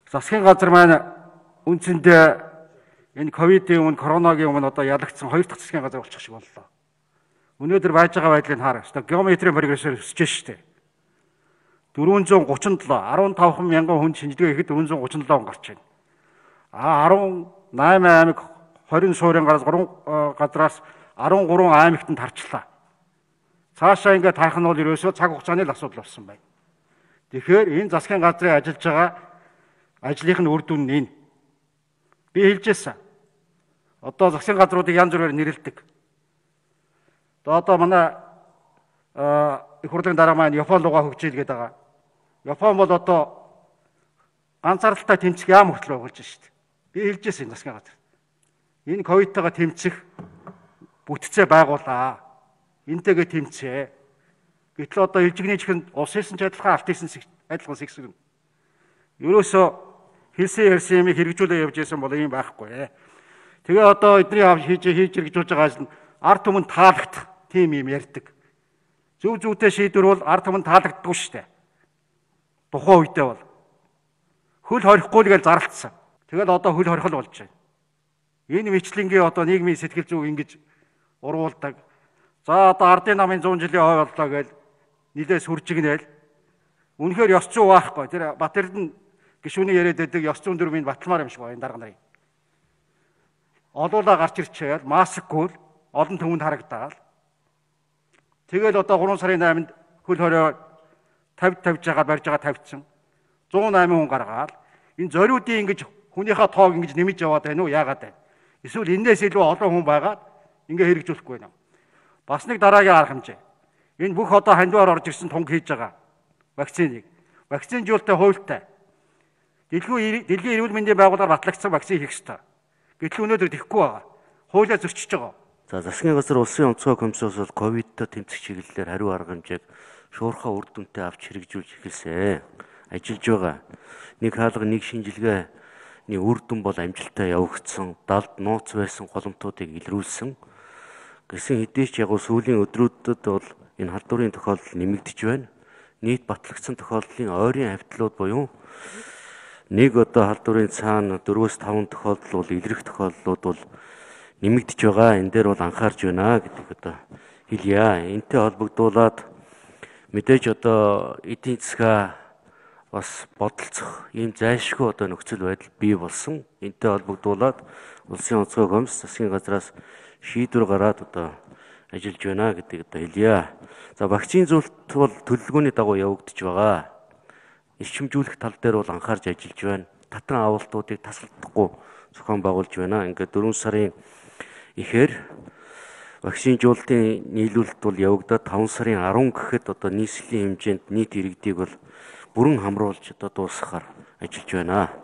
Засгийн газар маань үндсэндээ энэ ковидын өмнө, коронагийн өмнө одоо ялагдсан хоёр дахь засгийн газар болчих шиг боллоо. Өнөөдөр байж байгаа байдлыг хараа. Геометрийн прогрессээр өсөж штэ. 437, 15 мянган хүн шинжилгээ хийхэд 437 он гарч байна. 18 аймаг 20 суурин газраас 13 аймагт нь тарчлаа. Цаашаа ингээд тарах нь бол ерөөсөө цаг хугацааны л асуудал болсон байна. Тэгэхээр энэ засгийн газрын ажиллаж байгаа ажлынх нь үр дүн нь энэ. Би хэлжсэн. Одоо засгийн газруудыг янз бүрээр нэрлэдэг. Одоо манай их хурлын дараа маань Япон руугаа хөгжөөлгээд байгаа. Япон бол одоо ганцааралтай тэмцэх яам хүртэл байгуулж штэ. Би хэлжсэн засгийн газар. Энэ ковидтайгаа тэмцэх бүтцээ байгуулаа. Энтэйгээ тэмцээ. Гэтэл одоо илжигний чихэнд ус хэлсэн ч адилхан, алт хэлсэн адилхан сэгсэг. Ерөөсөө хэлсэн ярьсан юм хэрэгжүүлээ явж байсан бол ийм байхгүй. Тэгээ одоо эдний хийж хэрэгжүүлж байгаа ажил нь ард түмэнд таалагдах тийм юм ярьдаг. Зөв зүйтэй шийдвэр бол ард түмэнд таалагддаггүй шүү дээ. Тухайн үедээ бол хөл хорихгүй л гэж зарлцсан. Тэгэл одоо хөл хорхол болж байна. Энэ мэтлэнгийн одоо нийгмийн сэтгэл зүйг ингэж урвуулдаг. За одоо ардын намын 100 жилийн хой боллоо гэж нилээ сүржигнээл. Үнэхээр ёс зүй байхгүй. Тэр Батэрдэн гишүүний яриад байдаг ёс зүйн дүрмийн баталмаар юм шиг байна дарга нарын. Олуулаа гарч ирчээл маскгүй олон түмэнд харагдаал. Тэгэл одоо 3 сарын 8-нд хөл хорио 50 тавьж байгаа барьж байгаа тавьчихсан. 108 хүн гаргаал. Энэ зориудын ингэж хүнийхээ тоог ингэж нэмж яваад байна уу? Яагаад байна? Эсвэл энэс илүү олон хүн байгаад ингэ хэрэгжүүлэхгүй байна. Бас нэг дараагийн арга хэмжээ. Энэ бүх одоо хандиваар орж ирсэн тунг хийж байгаа вакциныг. Вакцинжуулалтын хуультай. Дэлхийн эрүүл мэндийн байгууллагаар батлагдсан вакцин хийх ёстой. Гэтэл өнөөдөр тэхгүй байгаа. Хуулиа зөрчиж байгаа. За засгийн газар улсын онцгой комиссоос бол ковидтой тэмцэх чиглэлээр хариу арга хэмжээг шуурхай үр дүнтэй авч хэрэгжүүлж эхэлсэн. Ажиллаж байгаа. Нэг хаалга нэг шинжилгээний үр дүн бол амжилттай явагдсан. Далд нууц байсан голомтуудыг илрүүлсэн. Гэсэн хэдий ч яг сүүлийн өдрүүдэд бол энэ халдварын тохиолдол нэмэгдэж байна. Нийт батлагдсан тохиолдлын ойрын хавьтлууд буюу нэг одоо халдварын цаана 4-5 тохиолдол бол илрэх тохиолдлууд бол нэмэгдэж байгаа. Энэ дээр бол анхаарч байна гэдэг одоо хэлье. Энтэй холбогдуулаад мэдээж одоо эдийн засгаа бас бодолцох ийм зайлшгүй одоо нөхцөл байдал бий болсон. Энтэй холбогдуулаад улсын онцгой комисс засгийн газраас шийдвэр гараад одоо ажиллаж байна гэдэг одоо хэлье. За вакцин зөвлөлт бол төлөвлөгөөний дагуу явагдаж байгаа. Эрчимжүүлэх тал дээр бол анхаарч ажиллаж байна. Татан авалтуудыг тасалдахгүй зохион байгуулж байна. Ингээд 4 сарын ихээр вакцинжуулалтын нийлүүлэлт бол явагдаад 5 сарын 10 гэхэд одоо нийслэлийн хэмжээнд нийт иргэдийг бол бүрэн хамруулж одоо дуусгахаар ажиллаж байна.